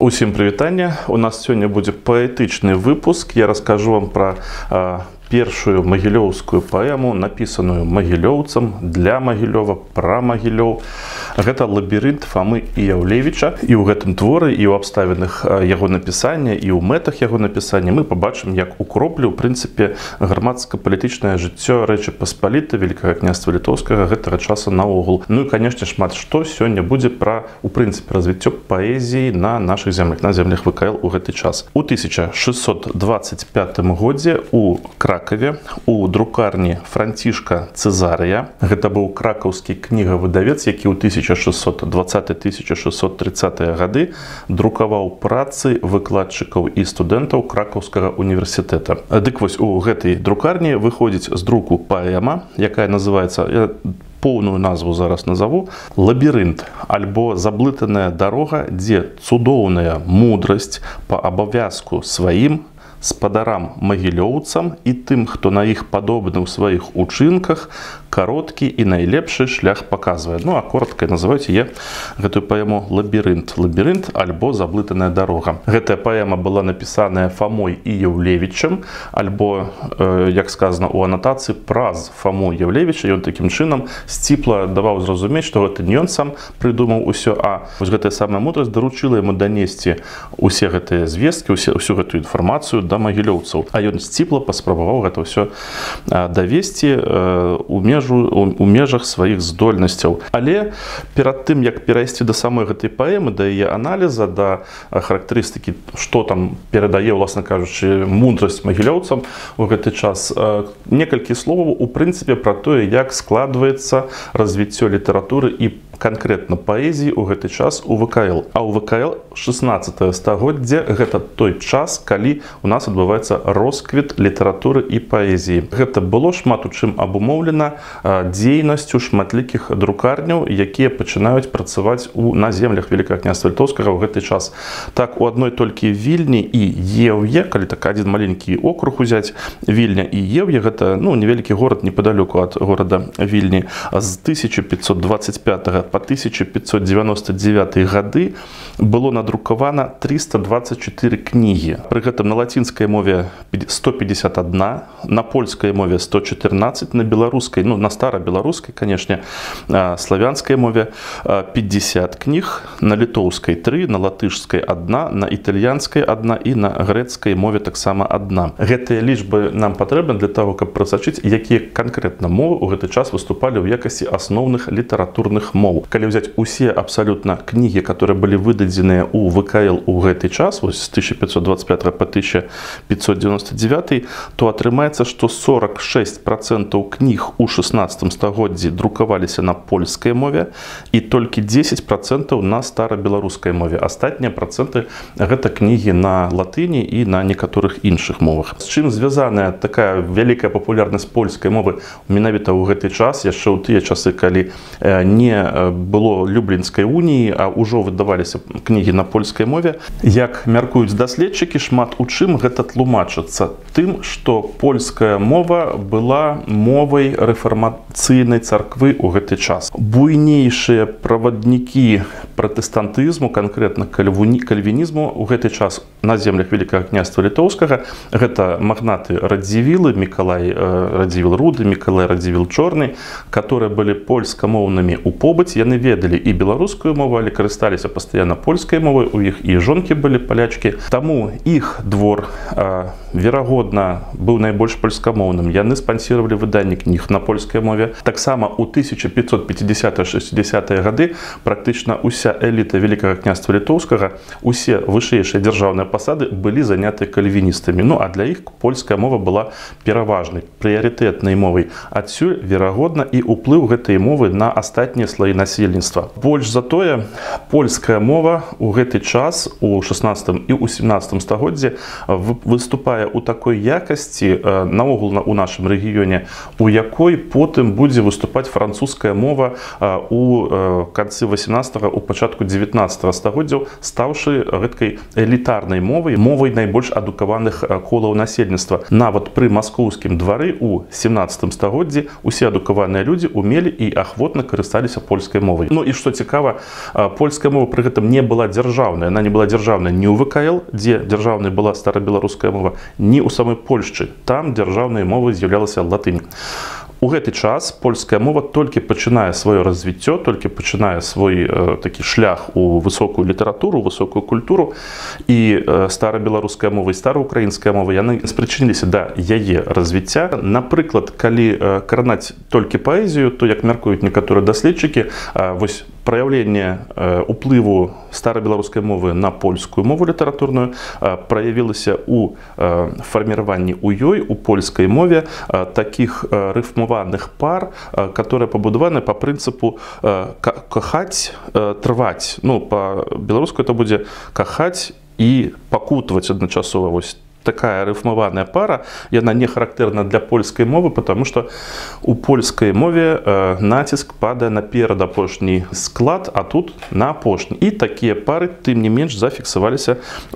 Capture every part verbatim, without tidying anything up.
Усім прывітання. У нас сегодня будет поэтичный выпуск. Я расскажу вам про э, первую магілёўскую поэму, написанную магілёўцам для Магілёва, про Магілёў. Это лабірынт Фомы Іяўлевіча. І ў гэтым творы, і ў абставінах яго напісання, і ў мэтах яго напісання мы побачым, як у кроплі, у прынцыпе, грамадска-палітычнае жыццё Рэчы Паспалітай, Великага княства Літоўскага гэтага часу наогул. Ну і, конечно, шмат што сёння будзе пра, у прынцыпе, развіццё паэзіі на наших землях, на землях ВКЛ у гэты час. У тысяча шестьсот двадцать пятым годзе у Кракове у друкарні Францішка Цезарыя, гэта быў кракаўскі кнігавыдавец, які ў тысяча шестьсот двадцатый — тысяча шестьсот тридцатыя гады друкаваў працы выкладчыкаў і студэнтаў Кракаўскага універсітэта. Дык вось у гэтай друкарні выходзіць з друку паэма, якая называецца, я поўную назву зараз назову, «Лабірынт» альбо «Заблытаная дарога, дзе цудоўная мудрасць па абавязку сваім, спадарам магілёўцам і тым, хто на іх падобны ў сваіх учынках, кароткі і найлепшы шлях паказвае». Ну, а коротка называюць я гэтую паэму «Лабірынт». «Лабірынт» альбо «Заблытаная дарога». Гэтая паэма была напісаная Фомой Іяўлевічам, альбо, э, як сказано у анатацыі, праз Фому Іяўлевіча. Ён такім чынам сціпла даваў зразумець, што гэта не ён сам прыдумаў усё, а вось гэтая самая мудрасць даручыла яму данесці усе гэтыя звесткі, усе, усю гэтую інфармацыю да магілёўцаў. А ён сціпла паспрабаваў гэта ўсё давесці э, у меж у межах сваіх здольнасцяў. Але перад тым, як перайсці да самой гэтай паэмы, да яе аналіза, да характарыстыкі, што там перадае, уласна кажучы, мудрасць магілёўцам у гэты час, некалькі словаў у прынцыпе пра тое, як складваецца развіццё літаратуры і конкретно паэзіі у гэты час у ВКЛ. А у ВКЛ шестнадцатае стагоддзе гэта той час, калі у нас адбываецца росквіт літаратуры і паэзіі. Гэта было шмат у чым абумоўлена дзейнасцю шматлікіх друкарняў, якія пачынаюць працаваць у на землях Великага княства Літоўскага ў гэты час. Так, у адной толькі Вільні і Еўе, калі так адзін маленькі округ узяць, Вільня і Еўе, гэта, ну, невялікі горад непадалёку ад горада Вільні, з тысяча пятьсот двадцать пятага по тысяча пятьсот девяносто девятый гады было надрукавана триста двадцать четыре кнігі. Пры гэтым на лацінскай мове сто пятьдесят одна, на польскай мове сто четырнадцать, на беларускай, ну, на старабеларускай, конечно, славянскай мове пятьдесят кніг, на літоўскай три, на латышскай одна, на італьянскай одна і на грэцкай мове таксама одна. Гэтыя лічбы нам патрэбны для того, каб прасачыць, якія канкрэтна мовы ў гэты час выступалі ў якасці асноўных літаратурных моў. Калі взять усе абсолютно книги, которые были выдадзеныя у ВКЛ у гэты час, вот с тысяча пятьсот двадцать пятого по тысяча пятьсот девяносто девятый, то атрымаецца, что сорок шесть процентов книг у шестнадцатым стагоддзі друкаваліся на польскай мове и только десять процентов на старабеларускай мове. Астатнія проценты гэта кнігі на латыні і на некаторых іншых мовах. З чым звязаная такая вялікая папулярнасць польскай мовы менавіта ў гэты час, яшчэ ў тыя часы, калі не было Люблінскай уніі, а ўжо выдаваліся кнігі на польскай мове. Як мяркуюць даследчыкі, шмат у чым гэта тлумачыцца тым, што польская мова была мовай рэфармацыйнай царквы ў гэты час. Буйнейшыя праваднікі пратэстантызму, канкрэтна кальвінізму ў гэты час на землях Великага княства Літоўскага, гэта магнаты Радзівілы, Мікалай Радзівіл Руды, Мікалай Радзівіл Чорны, которые былі польскамоўнымі у побыце. Яны ведалі і беларускую мову, але карысталіся пастаянна польскай мовай, у іх і жонкі былі палячкі. Таму іх двор, э, верагодна, быў найбольш польскамоўным. Яны спансіравалі выданне кніг на польскай мове. Таксама у тысяча пятьсот пятидесятые — шестидесятые гады практычна уся эліта Великага княства Літоўскага, усе вышэйшыя дзяржаўныя пасады былі заняты кальвіністамі. Ну, а для іх польская мова была пераважнай, прыярытэтнай мовай. Адсюль, верагодна, і ўплыў гэтай мовы на астатнія слоі насельніцтва. Больш за тое, польская мова у гэты час у шестнадцатым і у семнадцатым стагоддзе выступае у такой якасці наогул у нашым рэгіёне, у якой потым будзе выступаць французская мова у канцы восемнадцатага, у пачатку девятнадцатага стагоддзяў, стаўшы гэткай элітарнай мовай, мовай найбольш адукаваных колаў насельніцтва. Нават пры маскоўскім двары у семнадцатым стагоддзі усе адукаваныя людзі умелі і ахвотна карысталіся польскай польскай мовай. Ну і што цікава, польская мова пры гэтым не была дзяржаўная, она не была дзяржаўная ні ў вэ ка эл, дзе дзяржаўнай была старабеларуская мова, ні ў самой Польшчы. Там дзяржаўнай мовай з'яўлялася латынь. У гэты час польская мова толькі пачынае сваё развіццё, толькі пачынае свой э, такі шлях у высокую літаратуру, высокую культуру, і э, старабеларуская мова і стараўкраінская мова, яны спрычыніліся да яе развіцця. Напрыклад, калі э, кранаць толькі паэзію, то, як мяркуюць некаторыя даследчыкі, э, вось праяўленне э, уплыву старабеларускай мовы на польскую мову літаратурную э, праявілася ў э, фарміраванні ў ёй, у польскай мове э, такіх э, рыфмаваных пар, которые побудованы по принципу кахаць, трваць. Ну, по-беларуску это будет кахаць и пакутваць адначасова. Вось такая рифмованная пара, и она не характерна для польской мовы, потому что у польской мове э, натиск падает на перадапошний склад, а тут на апошний. И такие пары, тем не менш, зафиксовались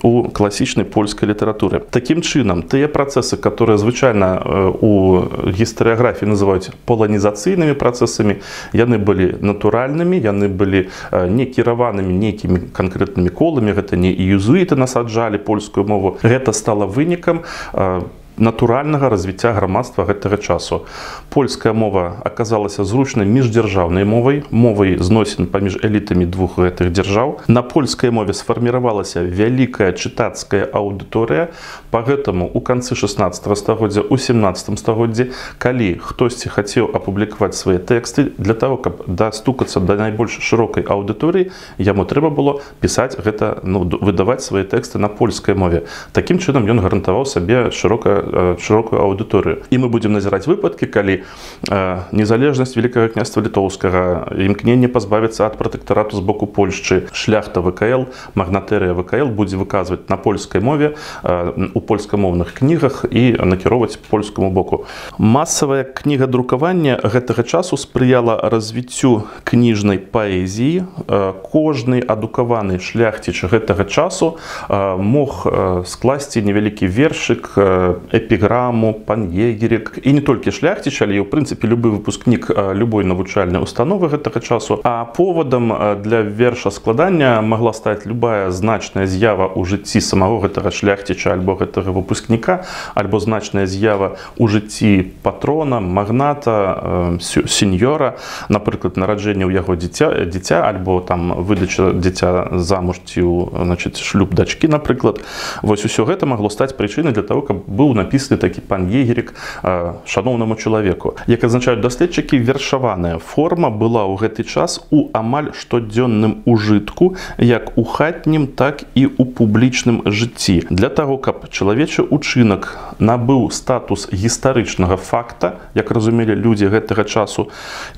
у классичной польской литературы. Таким чином, те процессы, которые звычайно э, у гістарыяграфіі называют полонизацыйными процессами, яны были натуральными, яны были э, не кіраванымі некими конкретными колами, это не иезуиты насаджали польскую мову, это стало вынікам э, натуральнага развіцця грамадства гэтага часу. Польская мова аказалася зручнай міждзяржаўнай мовай, мовай зносін паміж элітамі двух гэтых дзяржаў. На польскай мове сфарміравалася вялікая чытацкая аўдыторыя, па гэтаму у канцы шаснаццатага стагоддзя, у сямнаццатым стагоддзі, калі хтосьці хацеў апублікаваць свае тэксты, для таго, каб дастукацца да найбольш шырокай аўдыторыі, яму трэба было пісаць гэта, ну, выдаваць свае тэксты на польскай мове. Такім чынам ён гарантаваў сабе шырокае широкую аудиторию. И мы будем назирать выпадки, коли э, незалежность Великого княства Литовского, имкнение позбавиться от протекторату с боку Польши, шляхта вэ ка эл, магнатерия вэ ка эл будет выказывать на польской мове, э, у польскомовных книгах и накировать польскому боку. Массовое книгадрукаванне гэтага часу спрыяла развіццю кніжнай паэзіі. Э, кожны адукаваны шляхціч гэтага часу э, мог э, скласці невялікі вершык, э, эпиграмму, панегірик. И не только шляхтич, але и, в принципе, любой выпускник любой навучальной установы гэтага часу. А поводом для верша складання могла стать любая значная з'ява у жыцці самого гэтага шляхтича альбо гэтага выпускника, альбо значная з'ява у жыцці патрона, магната, сеньора, напрыклад, нараджэнне ў яго дзіця, дзіця альбо там выдача дзіця замуж ці, значит, шлюб дачкі, напрыклад. Вось усё гэта могло стаць прычынай для того, каб быў написаны такі панегірик э, шаноўнаму чалавеку. Як азначаюць даследчыкі, вершаваная форма была ў гэты час у амаль штодзённым ужытку, як у хатнім, так і у публічным жыцці. Для таго, каб чалавечы учынак набыў статус гістарычнага факта, як разумелі людзі гэтага часу,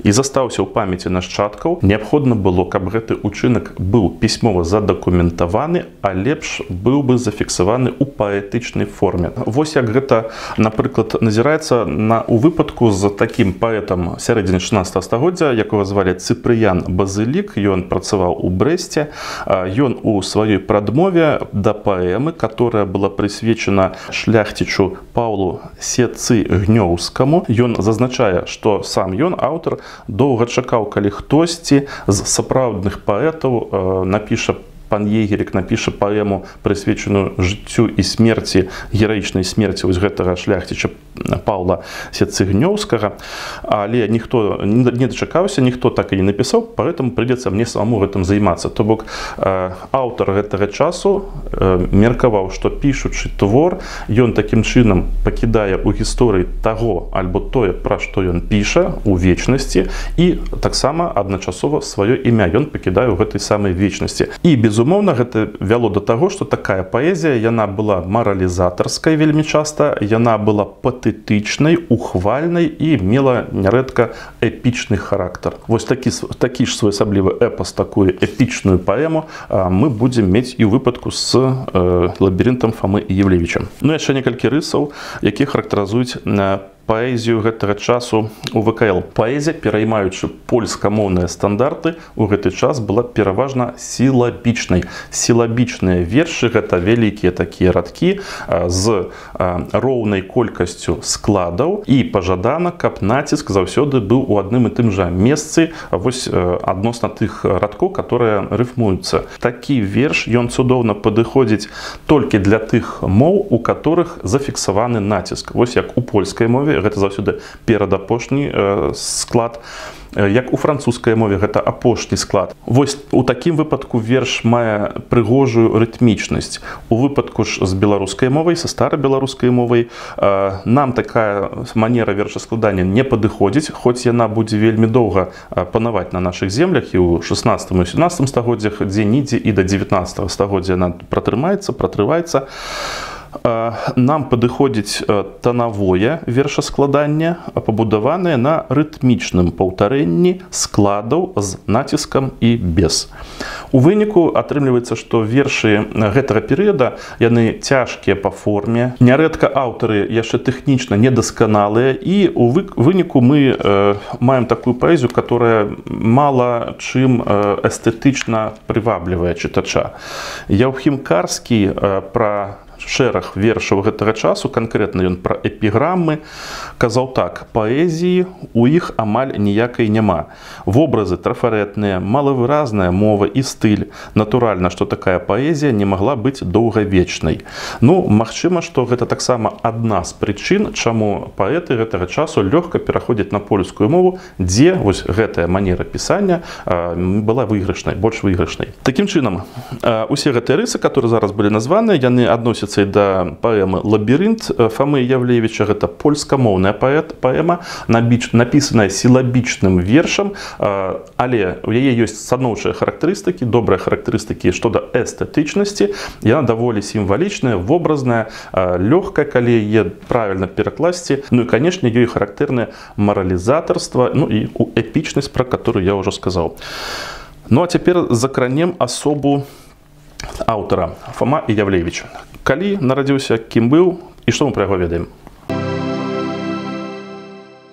і застаўся ў памяці нашчадкаў, неабходна было, каб гэты учынак быў пісьмова задакументаваны, а лепш быў бы зафіксаваны ў паэтычнай форме. Вось як гэта, напрыклад, назіраецца на, у выпадку з такім паэтам сярэдзіны шаснаццатага стагоддзя, якога звалі Цыпрыян Базылік. Ён працаваў у Брэсце. Ён у сваёй прадмове да паэмы, которая была прысвечана шляхцічу Паўлу Сецыгнёўскаму, ён зазначае, што сам ён, аўтар, доўга чакаў, калі хтосьці з сапраўдных паэтаў напіша панегірик, напіша паэму, прысвечаную жыццю і смерці, гераічнай смерці вось гэтага шляхціча Паўла Сецыгнёўскага, але ніхто не дачакаўся, ніхто так і не напісаў, поэтому придется мне самому гэтым займацца. То бок э, аўтар гэтага часу э, меркаваў, што пішучы твор, ён такім чынам пакідае ў гісторыі таго альбо тое, пра што ён піша у вечнасці, і таксама адначасова сваё імя ён пакідае ў гэтай самай вечнасці. І безумоўна гэта вяло да таго, што такая паэзія, яна была маралізатарскай вельмі часта, яна была патэтычнай, ухвальнай і мела нярэдка эпічны характар. Вось такі, такі ж своеасаблівы эпас, такую эпічную паэму мы будзем мець і ў выпадку з э, лабірынтам Фомы Євлевіча. Ну, яшчэ некалькі рысаў, якія характарызуюць паэзію гэтага часу у вэ ка эл. Паэзія, пераймаючы польскамоўныя стандарты, у гэты час была пераважна сілабічнай. Сілабічныя вершы — гэта вялікія такія радкі з роўнай колькасцю складаў, і пажадана, каб націск заўсёды быў у адным і тым жа месцы вось адносна тых радкоў, которые рыфмуюцца. Такі верш, ён цудоўна падыходзіць толькі для тых моў, у которых зафіксаваны націск. Вось як у польскай мове, гэта заўсёды перадапошні э, склад, як у французскай мове гэта апошні склад. Вось у такім выпадку верш мае прыгожую рытмічнасць. У выпадку ж з беларускай мовай, са старабеларускай мовай, э, нам такая манера вершаскладання не падыходзіць, хоць яна будзе вельмі доўга панаваць на нашых землях, і ў шаснаццатым і сямнаццатым стагоддзях, дзе-нідзе і да дзевятнаццатага стагоддзя яна пратрымаецца, пратрываецца. Нам падыходзіць танавое вершаскладанне, пабудаванае на рытмічным паўтарэнні складаў з націскам і без. У выніку атрымліваецца, што вершы гэтага перыяда, яны цяжкія па форме, нярэдка аўтары яшчэ тэхнічна недасканалыя, і у выніку мы э, маем такую паэзію, которая мала чым э, эстэтычна прываблівае чытача. Яўхім Карскі э, пра шэраг вершаў гэтага часу, канкрэтна ён пра эпіграмы, казаў так: паэзіі у іх амаль ніякай няма. Вобразы трафарэтныя, малавыразная мова і стыль. Натуральна, што такая паэзія не магла быць доўгавечнай. Ну, магчыма, што гэта таксама адна з прычын, чаму паэты гэтага часу лёгка пераходзяць на польскую мову, дзе вось гэтая манера пісання э, была выйгрышнай, больш выйгрышнай. Такім чынам, э, усе гэтыя рысы, которые зараз былі названыя, яны адносяцца да паэмы «Лабірынт» Фомы Явлевіча. Гэта польскамоўная паэт, паэма, напісаная сілабічным вершам, але у яе ёсць станоўчыя характарыстыкі, добрыя характарыстыкі што да эстэтычнасці. Яна даволі сімвалічная, вобразная, лёгкая, калі яе правільна перакласці. Ну і, канешне, ёй характэрнае маралізатарства, ну і эпічнасць, пра которую я ўжо сказаў. Ну а цяпер закранем асобу аўтара Фома Явлевіч. Калі нарадзіўся, кім быў і што мы пра яго ведаем?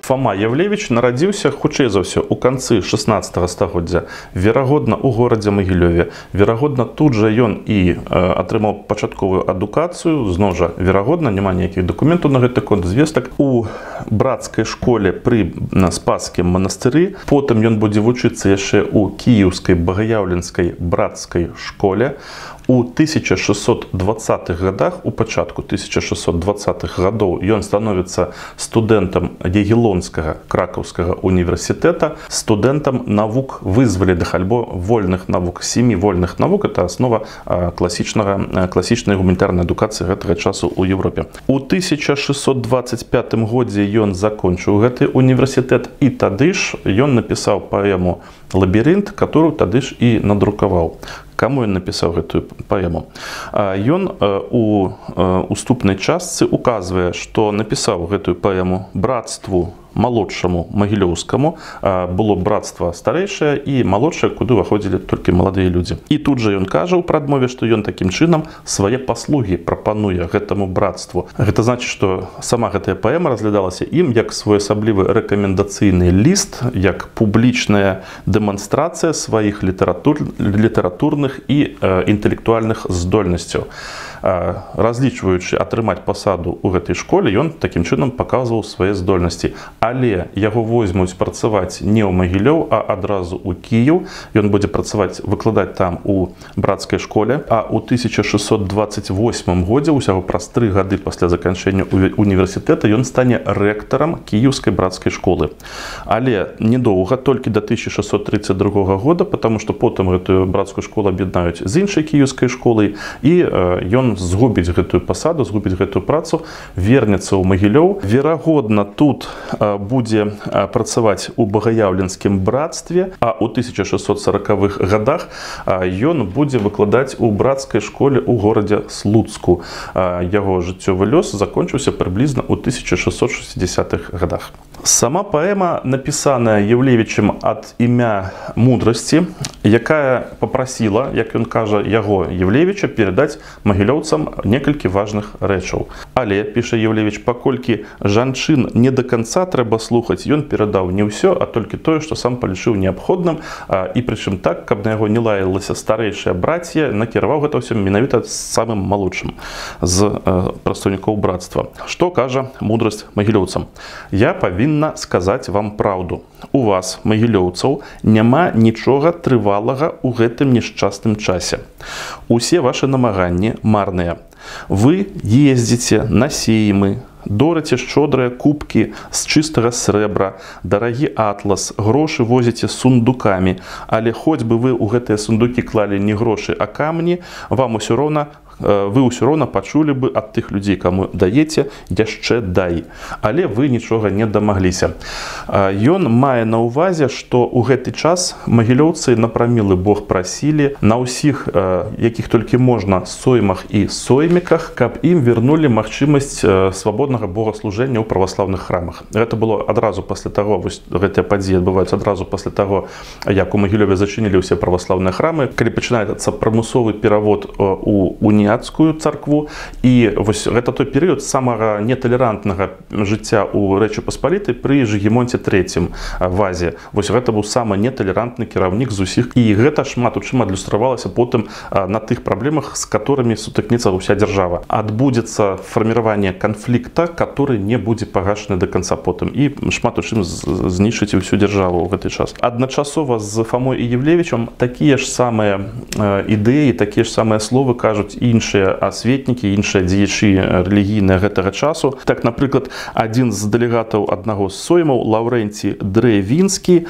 Фома Явлевіч нарадзіўся, хутчэй за ўсё, у канцы шаснаццатага стагоддзя, верагодна, у горадзе Магілёве. Верагодна, тут жа ён і э, атрымаў пачатковую адукацыю, зноў жа, верагодна, няма ніякіх дакументаў на гэты конт, звестак, у брацкай школе пры Спасскім манастыры. Потым ён будзе вучыцца яшчэ ў кіеўскай багаяўленскай брацкай школе. У тысяча шэсцьсот дваццатых годах, у пачатку тысяча шэсцьсот дваццатых гадоў, ён становіцца студэнтам Ягелонскага кракаўскага універсітэта, студэнтам навук вызваленых альбо вольных навук, сямі вольных навук. Это аснова класічнага, класічнай гуманітарнай адукацыі гэтага часу ў Еўропе. У тысяча шэсцьсот дваццаць пятым годзе ён закончыў гэты універсітэт, і тады ж ён напісаў паэму «Лабірынт», которую тады ж і надрукаваў. Каму ён напісаў гэтую паэму? Ён у уступнай частцы указвае, што напісаў гэтую паэму брацтву малодшаму магілёўскаму. Было брацтва старэйшае і малодшае, куды ўваходзілі толькі маладыя людзі. І тут жа ён кажа ў прадмове, што ён такім чынам свае паслугі прапануе гэтаму брацтву. Гэта значыць, што сама гэтая паэма разглядалася ім як своеасаблівы рэкамендацыйны ліст, як публічная дэманстрацыя сваіх літаратур, літаратурных і э, інтэлектуальных здольнасцяў. Разлічваючы атрымаць пасаду ў гэтай школе, ён такім чынам паказваў свае здольнасці. Але яго возьмуць працаваць не ў Магілёў, а адразу ў Кіеў. Ён будзе працаваць, выкладаць там у брацкай школе. А ў тысяча шэсцьсот дваццаць восьмым годзе, усяго праз тры гады пасля заканчэння універсітэта, ён стане рэктарам кіеўскай брацкай школы. Але недоўга, толькі да тысяча шэсцьсот трыццаць другога года, потому што потым гэтую брацкую школу аб'яднаюць з іншай кіеўскай школай, і ён згубіць гэтую пасаду, згубіць гэтую працу, вернецца ў Магілёў. Верагодна, тут будзе працаваць у багаяўленскім брацтве, а ў тысяча шэсцьсот саракавых гадах ён будзе выкладаць у брацкай школе ў горадзе Слуцку. Яго жыццёвы лёс закончыўся прыблізна ў тысяча шэсцьсот шэсцідзесятых гадах. Сама паэма напісаная Явлевічем ад імя мудрасці, якая папрасіла, як ён кажа, яго, Явлевіча, перадаць магілёўцам некалькі важных рэчаў. Але, піша Еўлевіч, паколькі жанчын не до конца трэба слухаць, ён перадаў не ўсё, а толькі тое, што сам палічыў неабходным, і прычым так, каб на яго не лаялася старэйшая брація, накіраваў гэта ўсё менавіта з самым малодшым з прадстаўнікоў брацтва. Што кажа мудрасць магілёўцам? Я павінна сказаць вам праўду. У вас, магілёўцаў, няма нічога трывалага ў гэтым нешчасным часе. Усе вашы намаганні марныя. Вы ездзіце на сеймы, дораце шчодрыя кубкі з чыстага срэбра, дарагі атлас, грошы возіце сундукамі, але хоць бы вы ў гэтыя сундукі клалі не грошы, а камні, вам усё роўна вы ўсё роўна пачулі бы ад тых людзей, каму даеце, яшчэ дай. Але вы нічога не дамагліся. Ён мае на ўвазе, што ў гэты час магілёўцы на прамілы Бог прасілі на ўсіх, якіх толькі можна, соймах і сойміках, каб ім вернулі магчымасць свабоднага богаслужэння ў праваслаўных храмах. Гэта было адразу пасля таго, вось гэтыя падзеі адбываюцца адразу пасля таго, як у Магілёве зачынілі ўсе праваслаўныя храмы, калі пачынаецца прымусовы перавод у уніяцкую царкву. І вось гэта той перыяд самага неталерантнага жыцця ў Рэчы Паспалітай пры Жыгімонце трэцім вазе. Вось гэта быў самы неталерантны кіраўнік з усіх. І гэта шмат у чым адлюстравалася потым на тых праблемах, з которымі сутыкнецца ўся дзяржава. Адбудзецца фарміраванне канфлікта, который не будзе пагашаны до конца потым. І шмат у чым знішчыць усю дзяржаву ў гэты час. Адначасова з Фамой і Еўлевічам такія ж самыя ідэі, такія ж самыя словы кажуць і іншыя асветнікі, іншыя дзеячы рэлігійныя гэтага часу. Так, напрыклад, адзін з дэлегатаў аднаго з соймаў, Лаўрэнці Дрэвінскі,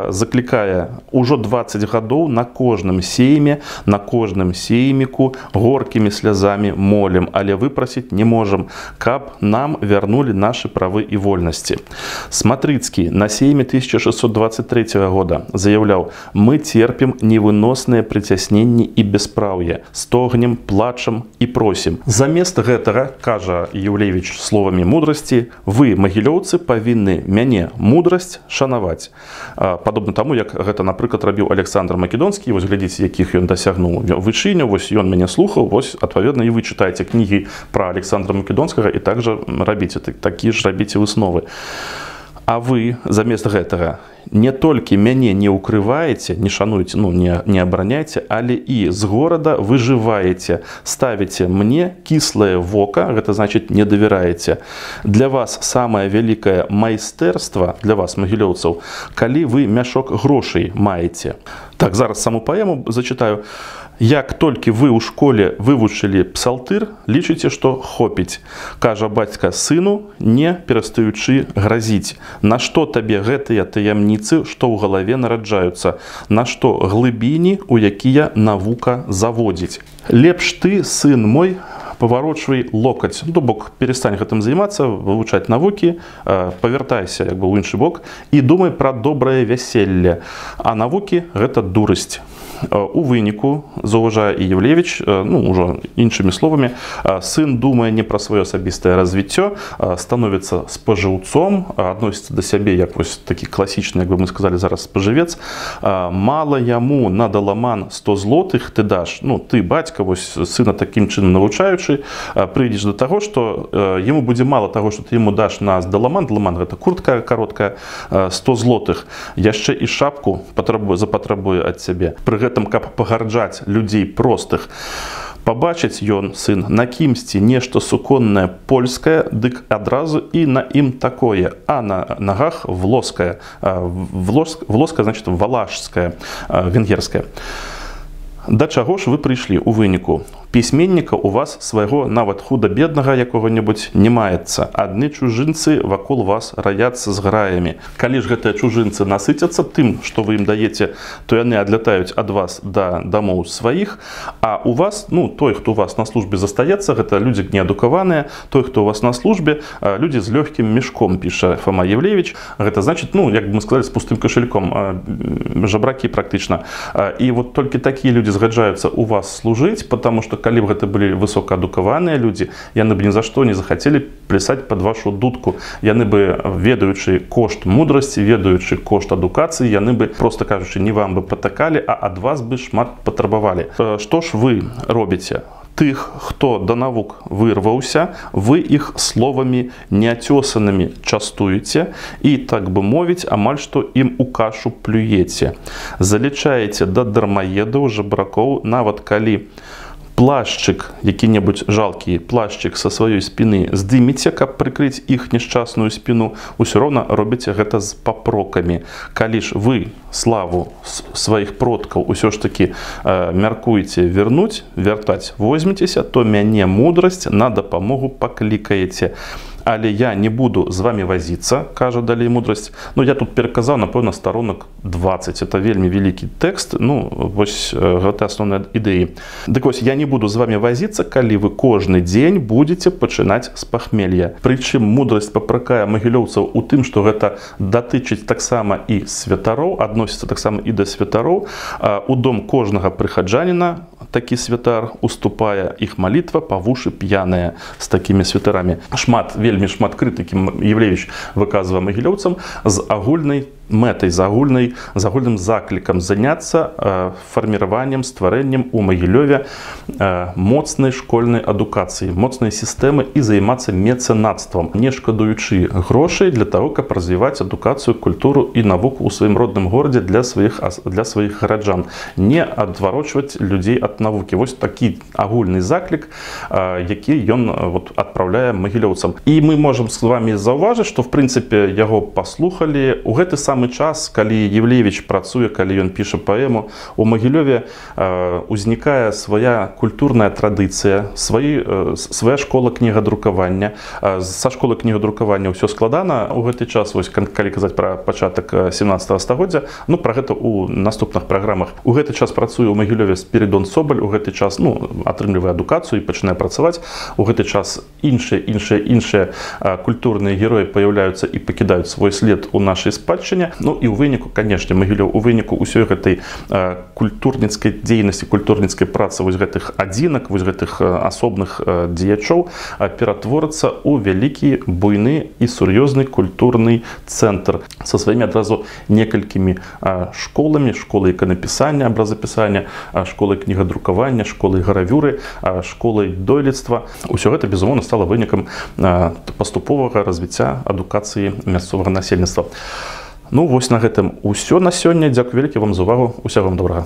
заклікае: ужо дваццаць гадоў на кожным сейме, на кожным сейміку горкімі слязамі молім, але выпрасіць не можам, каб нам вярнулі нашы правы і вольнасці. Сматрыцкі на сейме тысяча шестьсот двадцать третьего года заяўляў: мы терпім невыносныя прыцясненні і беспраўе, стогнем, плачам і просім. Замест гэтага, кажа Еўлевіч словамі мудрасці, вы, магілёўцы, павінны мяне, мудрасць, шанаваць. Падобна таму, як гэта, напрыклад, рабіў Александр Македонскі. Вось глядзіце, якіх ён дасягнуў вышыню, вось ён мяне слухаў, вось, адпаведна, і вы чытаеце кнігі пра Александра Македонскага і также рабіце, такі ж рабіце высновы. А вы, замест гэтага, не толькі мяне не ўкрываеце, не шануеце, ну, не, не абараняеце, але і з горада выжываеце, ставіце мне кіслае вока, гэта значыць не давяраеце. Для вас самае вялікае майстэрства, для вас, магілёўцаў, калі вы мяшок грошай маеце. Так, зараз саму паэму зачытаю. Як толькі вы ў школе вывучылі псалтыр, лічыце, што хопіць. Кажа бацька сыну, не перастаючы гразіць. На што табе гэтыя таямніцы, што ў галаве нараджаюцца? На што глыбіні, у якія навука заводзіць? Лепш ты, сын мой, паварочвай локаць. Ну, бок, перестань гэтым займацца, вывучаць навукі, павяртайся як бы ў іншы бок і думай пра добрае вяселле. А навукі гэта дурасць. У выніку, заўважае і Еўлевіч, ну, ужо іншымі словамі, сын думае не пра сваё асабістае развіццё, становіцца спажыўцом, адносіцца да сябе як вось такі класічны, як бы мы сказалі зараз, спажывец. Мала яму на даламан сто злотых ты даш. Ну, ты, бацька, вось сына такім чынам навучаючы, прыйдзеш да таго, што яму будзе мала таго, што ты яму даш на даламан, даламан гэта куртка кароткая, сто злотых, яшчэ і шапку запатрабуе ад цябе. Пры гэтым, каб пагарджаць людзей простых, пабачыць ён, сын, на кімсьці нешта суконнае польскае, дык адразу і на ім такое, а на нагах влоскае. Влоскае, значит, валашскае, венгерскае. Да чаго ж вы прыйшлі ў выніку? Пісьменніка у вас свайго нават худа-беднага якога-небудзь не маецца. Адны чужынцы вакол вас раяцца з граямі. Калі ж гэтыя чужынцы насыцяцца тым, што вы ім даеце, то яны адлятаюць ад вас да дамоў сваіх, а у вас, ну, той, хто у вас на службе застаецца, гэта людзі неадукаваныя, той, хто у вас на службе, людзі з лёгкім мешком, піша Фома Еўлевіч. Гэта значыць, ну, як бы мы сказалі, з пустым кашельком, жабракі практычна. І вот толькі такія людзі згаджаюцца у вас служыць, потому што калі б гэта былі высокаадукаваныя людзі, яны б ні за што не захацелі плясаць пад вашу дудку. Яны бы, ведаючы кошт мудрасці, ведаючы кошт адукацыі, яны бы, проста кажучы, не вам бы патакалі, а ад вас бы шмат патрабавалі. Што ж вы робіце? тых, хто да навук вырваўся, вы іх словамі неацёсанымі частуеце і, так бы мовіць, амаль што ім у кашу плюеце. Залічаеце да дармаедаў, жабракоў, нават калі плашчык, які-небудзь жалкі плашчык са сваёй спіны здымеце, каб прыкрыць іх няшчасную спіну, усё роўна робіце гэта з папрокамі. Калі ж вы славу сваіх продкаў усё ж такі э, мяркуеце вернуць, вяртаць возьмецеся, то мяне мудрасць на дапамогу паклікаеце. Але я не буду з вами вазіцца, кажа далей мудрасць. Ну, я тут пераказаў, напэўна, старонак дваццаць. Это вельмі вялікі тэкст. Ну, вось гэта асноўныя ідэі. Дык вось, я не буду з вами вазіцца, калі вы кожны дзень будете пачынаць з пахмелья. Прычым мудрасць папракае магілёўцаў у тым, што гэта датычыць таксама і святароў, адносіцца таксама і да святароў. У дом кожнага прыхаджаніна такі святар уступае, іх малітва па вушы п'яная з такімі святарамі. Шмат, вельмі шмат крытыкі Євлевіч выказвае магілёўцам з агульнай мэтай, з агульнай, з агульным заклікам заняцца э, фарміраваннем, стварэннем у Магілёве э, моцнай школьнай адукацыі, моцнай сістэмы і займацца мецэнацтвам, не шкадуючы грошай для таго, каб развіваць адукацыю, культуру і навуку ў сваім родным горадзе для сваіх, для сваіх гараджан. Не адварочваць людзей ад навукі. Вось такі агульны заклік, э, які ён вот, адпраўляе магілёўцам. І мы можам з вами заўважыць, што в прынцыпе яго паслухалі у гэты самы час, калі Євлевіч працуе, калі ён піша паэму, у Магілёве э, узнікае свая культурная традыцыя, сваі, э, свая школа кнігадрукавання. Э, са школы кнігадрукавання ўсё складана у гэты час, вось, калі казаць пра пачатак сямнаццатага стагоддзя, ну, пра гэта ў наступных праграмах. У гэты час працуе ў Магілёве Спірідон Собаль, у гэты час, ну, атрымлівае адукацыю і пачынае працаваць. У гэты час іншыя, іншыя, іншыя э, культурныя героі паяўляюцца і пакідаюць свой след у нашай спадчыне. Ну і ў выніку, канешне, Магілёў у выніку ўсёй гэтай э, культурніцкай дзейнасці, культурніцкай працы вось гэтых адзінак, вось гэтых э, асобных э, дзеячоў э, ператворыцца ў вялікі, буйны і сур'ёзны культурны цэнтр са сваімі адразу некалькімі э, школамі, школай іканапісання, абразапісання, э, школай кнігадрукавання, школай гравюры, э, школай дойлідства. Усё гэта, безумоўна, стала вынікам э, паступовага развіцця адукацыі мясцовага насельніцтва. Ну, вось на гэтым усё на сёння. Дзякуй вялікі вам за увагу. Усяго вам добрага.